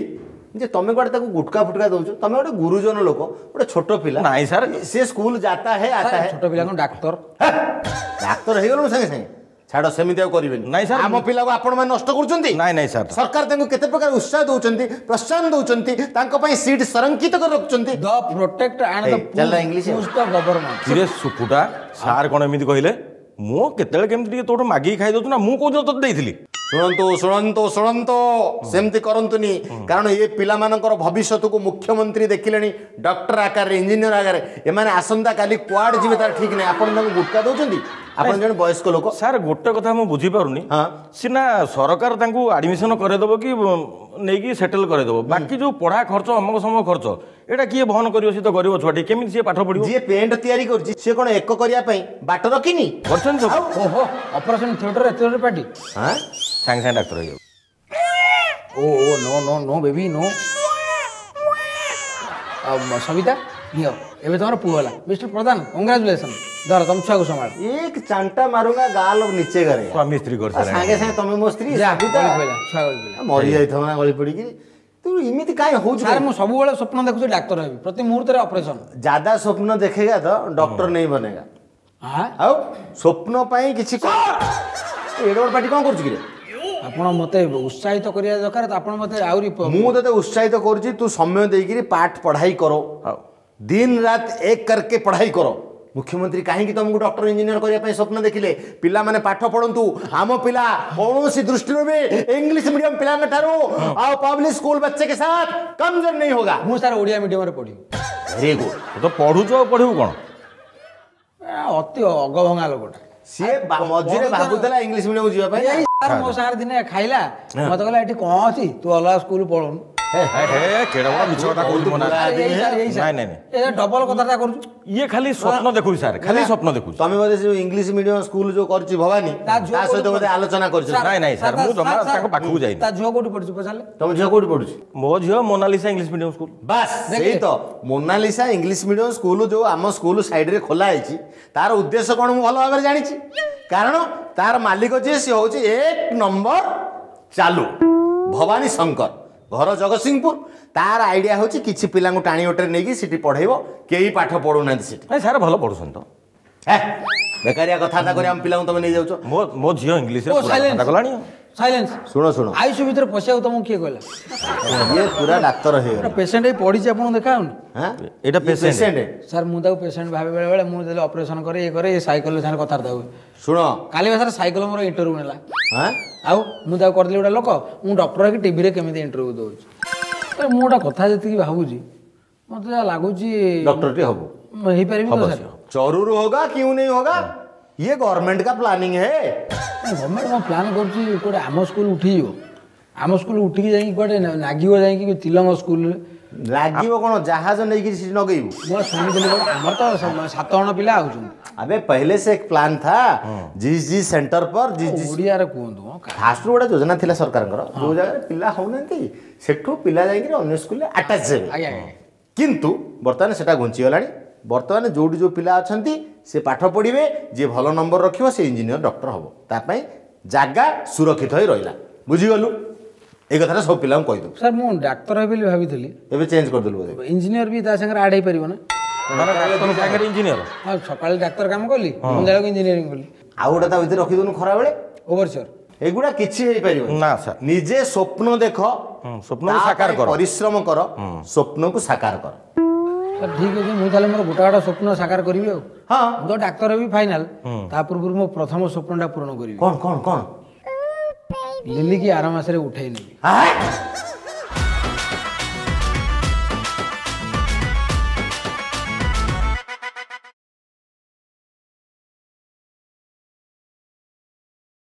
S4: ଯେ ତମେ କୁଆଡ଼େ ତାକୁ ଗୁଟକା ଫୁଟକା ଦଉଛ। ତମେ ଗୋଟେ ଗୁରୁଜନ ଲୋକ, ଗୋଟେ ଛୋଟ ପିଲା।
S3: ନାଇଁ ସାର୍,
S4: ସେ ସ୍କୁଲ ଯାତା ହେ ଆତା ହେ।
S1: ଛୋଟ ପିଲା କ'ଣ ଡାକ୍ତର?
S4: ଡାକ୍ତର ହେଇଗଲୁଣୁ ସାଙ୍ଗେ ସାଙ୍ଗେ? ଛାଡ଼, ସେମିତି ଆଉ କରିବେନି।
S3: ନାଇଁ ସାର୍,
S4: ଆମ ପିଲାକୁ ଆପଣମାନେ ନଷ୍ଟ କରୁଛନ୍ତି।
S3: ନାଇଁ ନାଇଁ ସାର୍,
S4: ସରକାର ତାଙ୍କୁ କେତେ ପ୍ରକାର ଉତ୍ସାହ ଦଉଛନ୍ତି, ପ୍ରୋତ୍ସାହନ ଦଉଛନ୍ତି, ତାଙ୍କ ପାଇଁ ସିଟ୍ ସଂରକ୍ଷିତ କରି ରଖୁଛନ୍ତି।
S1: The protect and the
S4: English
S1: the government.
S3: କିରେ ସୁକୁଟା, ସାର୍ କ'ଣ ଏମିତି କହିଲେ? ମୁଁ କେତେବେଳେ କେମିତି ଟିକେ ତୋଠୁ ମାଗିକି ଖାଇ ଦଉଛୁ ନା, ମୁଁ କୋଉଦିନ ତୋତେ ଦେଇଥିଲି?
S4: ଶୁଣନ୍ତୁ ଶୁଣନ୍ତୁ ଶୁଣନ୍ତୁ, ସେମିତି କରନ୍ତୁନି, କାରଣ ଏ ପିଲାମାନଙ୍କର ଭବିଷ୍ୟତକୁ ମୁଖ୍ୟମନ୍ତ୍ରୀ ଦେଖିଲେଣି ଡକ୍ଟର ଆକାରରେ, ଇଞ୍ଜିନିୟର ଆକାରରେ। ଏମାନେ ଆସନ୍ତାକାଲି କୁଆଡ଼େ ଯିବେ ତାର ଠିକ୍ ନାହିଁ। ଆପଣ ତାଙ୍କୁ ଗୁଟକା ଦଉଛନ୍ତି, ଆପଣ ଜଣେ ବୟସ୍କ ଲୋକ।
S3: ସାର୍ ଗୋଟେ କଥା ମୁଁ ବୁଝିପାରୁନି, ସିନା ସରକାର ତାଙ୍କୁ ଆଡ଼ମିସନ କରେଇଦେବ କି ନେଇକି ସେଟେଲ୍ କରେଇଦେବ, ବାକି ଯୋଉ ପଢ଼ା ଖର୍ଚ୍ଚ ଅମକ ସମକ ଖର୍ଚ୍ଚ ଏଇଟା କିଏ ବହନ କରିବ? ସେ ତ ଗରିବ ଛୁଆଟି, କେମିତି ସିଏ ପାଠ ପଢ଼ିବ?
S4: ଯିଏ ପେଣ୍ଟ ତିଆରି କରୁଛି ସିଏ କ'ଣ ଏକ କରିବା ପାଇଁ ବାଟ ରଖିନି?
S3: କରିଛନ୍ତି ସବୁ।
S1: ଓହୋ, ଅପରେସନ ଥିଏଟର ଏତେ ଜୋରେ ପାଟି,
S3: ସାଙ୍ଗେ ସାଙ୍ଗେ ଡାକ୍ତର ହେଇଯାଉ।
S1: ଓ ଓ no no no baby no. ଆଉ ସବିତା ନିଅ, ଏବେ ତମର ପୁଅ ହେଲା। ମିଷ୍ଟର ପ୍ରଧାନ କଂଗ୍ରାଚୁଲେସନ, ଧର ତମ ଛୁଆକୁ ସମ୍ଭାଳ।
S4: ଏକ ଚାଣ୍ଟା ମାରୁଙ୍ଗା ଗାଲ ନିଚେ କରେ।
S3: ସ୍ୱାମୀ ସ୍ତ୍ରୀ କରିସାରିଲାଣି
S4: ସାଙ୍ଗେ ସାଙ୍ଗେ। ତମେ ମୋ ସ୍ତ୍ରୀ
S1: ଛୁଆ ଗଳି ପଇଲା,
S4: ମରି ଯାଇଥିବ ନା ଗଳି ପଡ଼ିକି। ତୁ ଏମିତି କାହିଁ ହଉଛୁ?
S1: ସାର୍ ମୁଁ ସବୁବେଳେ ସ୍ୱପ୍ନ ଦେଖୁଛି ଡାକ୍ତର ହେବି, ପ୍ରତି ମୁହୂର୍ତ୍ତରେ ଅପରେସନ।
S4: ज्यादा ସ୍ୱପ୍ନ ଦେଖେଗା ତ ଡକ୍ଟର नहीं ବନେଗା। ଆଉ ସ୍ୱପ୍ନ ପାଇଁ କିଛି ଏଡ଼େ ବଡ଼ ପାଟି କ'ଣ କରୁଛୁ କିରେ?
S1: ଆପଣ ମୋତେ ଉତ୍ସାହିତ କରିବା ଦରକାର ତ, ଆପଣ ମୋତେ ଆହୁରି।
S4: ମୁଁ ତତେ ଉତ୍ସାହିତ କରୁଛି, ତୁ ସମୟ ଦେଇକିରି ପାଠ ପଢ଼ାଇ କର, ଦିନ ରାତ ଏକ करके ପଢ଼ାଇ କର। ମୁଖ୍ୟମନ୍ତ୍ରୀ କାହିଁକି ତମକୁ ଡକ୍ଟର ଇଞ୍ଜିନିୟର କରିବା ପାଇଁ ସ୍ୱପ୍ନ ଦେଖିଲେ? ପିଲାମାନେ ପାଠ ପଢ଼ନ୍ତୁ। ଆମ ପିଲା କୌଣସି ଦୃଷ୍ଟିରୁ ବି ଇଂଲିଶ ମିଡିୟମ ପିଲାଙ୍କ ଠାରୁ ଆଉ ପବ୍ଲିକ ସ୍କୁଲ बच्चे के साथ कमजोर नहीं होगा।
S1: ମୁଁ ସାର୍ ଓଡ଼ିଆ ମିଡିୟମରେ ପଢ଼ିବି।
S4: Very good.
S3: ତୁ ତ ପଢ଼ୁଛୁ, ଆଉ ପଢ଼ିବୁ କ'ଣ?
S1: ଅତି ଅଗଭଙ୍ଗା ଲୋକଟା
S4: ସିଏ। ମଝିରେ ଭାବୁଥିଲା ଇଂଲିଶ ମିଡିୟମ ଯିବା ପାଇଁ।
S1: ମୋ ସାଙ୍ଗରେ ଦିନେ ଖାଇଲା, ମତେ କହିଲା ଏଠି କ'ଣ ଅଛି, ତୁ ଅଲଗା ସ୍କୁଲ ପଳଉନୁ। ଡବଲ କଥାଟା କରୁଛୁ।
S3: ଇଏ ଖାଲି ସ୍ୱପ୍ନ ଦେଖୁଛି ସାର୍, ଖାଲି ସ୍ୱପ୍ନ ଦେଖୁଛି।
S4: ତମେ ବୋଧେ ସେ ଇଂଲିଶ ମିଡିୟମ ସ୍କୁଲ ଯୋଉ କରିଛି ଭବାନୀ, ତା ସହିତ ବୋଧେ ଆଲୋଚନା କରିଛ?
S3: ନାଇଁ ନାଇଁ ସାର୍, ମୁଁ ଜମା ତାଙ୍କ ପାଖକୁ ଯାଇନି।
S1: ତା ଝିଅ କୋଉଠି ପଢୁଛି ପଚାରିଲେ?
S4: ତମ ଝିଅ କୋଉଠି ପଢୁଛି?
S3: ମୋ ଝିଅ ମୋନାଲିସା ଇଂଲିଶ ମିଡିୟମ ସ୍କୁଲ।
S4: ବାସ୍, ସେଇ ତ ମୋନାଲିସା ଇଂଲିଶ ମିଡିୟମ ସ୍କୁଲ ଯୋଉ ଆମ ସ୍କୁଲ ସାଇଡରେ ଖୋଲା ହେଇଛି, ତାର ଉଦ୍ଦେଶ୍ୟ କ'ଣ ମୁଁ ଭଲ ଭାବରେ ଜାଣିଛି। କାରଣ ତାର ମାଲିକ ଯିଏ, ସିଏ ହଉଛି ଏକ ନମ୍ବର ଚାଲୁ ଭବାନୀ ଶଙ୍କର, ଘର ଜଗତସିଂହପୁର। ତାର ଆଇଡିଆ ହେଉଛି କିଛି ପିଲାଙ୍କୁ ଟାଣି ଓଟରେ ନେଇକି ସେଠି ପଢ଼େଇବ। କେହି ପାଠ ପଢ଼ୁନାହାନ୍ତି ସେଠି।
S3: ନାଇଁ ସାର୍, ଭଲ ପଢ଼ୁଛନ୍ତି ତ।
S4: ବେକାରିଆ କଥାବାର୍ତ୍ତା କରି ଆମ ପିଲାଙ୍କୁ ତମେ ନେଇଯାଉଛ।
S3: ମୋ ମୋ ଝିଅ ଇଂଲିଶରେ କଲାଣି।
S1: ସାଇଲେନ୍ସ।
S4: ଶୁଣ ଶୁଣ,
S1: ଆଇସିୟୁ ଭିତରେ ପଶିବାକୁ ତମକୁ କିଏ କହିଲା?
S4: ଇଏ ପୁରା ଡାକ୍ତର ହେଇଗଲା।
S1: ପେସେଣ୍ଟ ହେଇ ପଡ଼ିଛି, ଆପଣଙ୍କୁ ଦେଖାଉନି?
S3: ଏଇଟା ପେସେଣ୍ଟ
S1: ସାର୍। ମୁଁ ତାକୁ ପେସେଣ୍ଟ ଭାବେ ବେଳେ ବେଳେ। ମୁଁ ଯେତେବେଳେ ଅପରେସନ କରେ, ଇଏ କରେ, ଏ ସାଇକେଲ ସାଙ୍ଗରେ କଥାବାର୍ତ୍ତା ହୁଏ।
S4: ଶୁଣ,
S1: କାଲି ବା ସାର୍ ସାଇକେଲ ମୋର ଇଣ୍ଟରଭ୍ୟୁ ନେଲା। ଆଉ ମୁଁ ତାକୁ କରିଦେଲି ଗୋଟେ ଲୋକ, ମୁଁ ଡକ୍ଟର ହେଇକି ଟିଭିରେ କେମିତି ଇଣ୍ଟରଭ୍ୟୁ ଦେଉଛି। ମୁଁ ଗୋଟେ କଥା ଯେତିକି ଭାବୁଛି, ମୋତେ ଯାହା ଲାଗୁଛି
S4: ଡକ୍ଟରଟି ହବୁ।
S1: ହେଇପାରିବି ତ ସାର୍?
S4: जरूर होगा, क्यों नहीं होगा? ये गवर्नमेंट का प्लानिंग है।
S1: ଗଭର୍ଣ୍ଣମେଣ୍ଟ କ'ଣ ପ୍ଲାନ୍ କରୁଛି? ଗୋଟେ ଆମ ସ୍କୁଲ ଉଠିଯିବ। ଆମ ସ୍କୁଲ ଉଠିକି ଯାଇକି କୁଆଡ଼େ ନାଗିବ ଯାଇକି ତିଲଙ୍ଗ ସ୍କୁଲରେ
S4: ଲାଗିବ କ'ଣ ଜାହାଜ ନେଇକି ସେଠି ନଗେଇବୁ
S1: ମୁଁ ଶୁଣିଥିଲି କ'ଣ ଆମର ତ ସାତ ଜଣ ପିଲା ଆଉଛନ୍ତି
S4: अबे पहले से एक प्लान था जिस जिस सेंटर पर जिस जिस
S1: ଓଡ଼ିଆରେ କୁହନ୍ତୁ ହଁ
S4: ଫାଷ୍ଟରୁ ଗୋଟେ ଯୋଜନା ଥିଲା ସରକାରଙ୍କର ଯୋଉ ଜାଗାରେ ପିଲା ହଉନାହାନ୍ତି ସେଠୁ ପିଲା ଯାଇକିରି ଅନ୍ୟ ସ୍କୁଲରେ ଆଟାଚ୍ ହେବେ
S1: ଆଜ୍ଞା ଆଜ୍ଞା
S4: କିନ୍ତୁ ବର୍ତ୍ତମାନ ସେଟା ଘୁଞ୍ଚିଗଲାଣି ବର୍ତ୍ତମାନ ଯୋଉଠି ଯୋଉ ପିଲା ଅଛନ୍ତି ସେ ପାଠ ପଢ଼ିବେ ଯିଏ ଭଲ ନମ୍ବର ରଖିବ ସେ ଇଞ୍ଜିନିୟର ଡକ୍ଟର ହବ ତା ପାଇଁ ଜାଗା ସୁରକ୍ଷିତ ହୋଇ ରହିଲା ବୁଝିଗଲୁ ଏଇ କଥାଟା ସବୁ ପିଲାଙ୍କୁ କହିଦେବୁ
S1: ସାର୍ ମୁଁ ଡାକ୍ତର ହେବି ବୋଲି ଭାବିଥିଲି
S4: ଏବେ ଚେଞ୍ଜ କରିଦେଲୁ ବୋଧେ
S1: ଇଞ୍ଜିନିୟର ବି ତା ସାଙ୍ଗରେ ଆଡ୍ ହେଇପାରିବ ନା
S3: ମାନେ ଡାକ୍ତର ସାଙ୍ଗରେ ଇଞ୍ଜିନିୟର
S1: ହଁ ସକାଳେ ଡାକ୍ତର କାମ କଲି ସନ୍ଧ୍ୟାବେଳକୁ ଇଞ୍ଜିନିୟରିଂ କଲି
S4: ଆଉ ଗୋଟେ ତା ଭିତରେ ରଖିଦେଉନୁ ଖରାବେଳେ
S1: ଓଭରସିଅର
S4: ଏଗୁଡ଼ା କିଛି ହେଇପାରିବ
S3: ନା ସାର୍
S4: ନିଜେ ସ୍ୱପ୍ନ ଦେଖ
S3: ସ୍ୱପ୍ନକୁ
S4: ତା
S3: ସାକାର
S4: ପାଇଁ
S3: କର।
S4: ପରିଶ୍ରମ କର ସ୍ୱପ୍ନକୁ ସାକାର କର
S1: ସାର୍ ଠିକ୍ ଅଛି ମୁଁ ତାହେଲେ ମୋର ଗୋଟା ଗୋଟା ସ୍ୱପ୍ନ ସାକାର କରିବି ଆଉ
S4: ହଁ
S1: ମୁଁ ତ ଡାକ୍ତର ହେବି ଫାଇନାଲ ତା ପୂର୍ବରୁ ମୋ ପ୍ରଥମ ସ୍ୱପ୍ନଟା ପୂରଣ କରିବି
S4: କ'ଣ କ'ଣ କ'ଣ
S1: ଲିଲିକି ଆର ମାସରେ ଉଠେଇ ନେବି
S4: ଆଁ?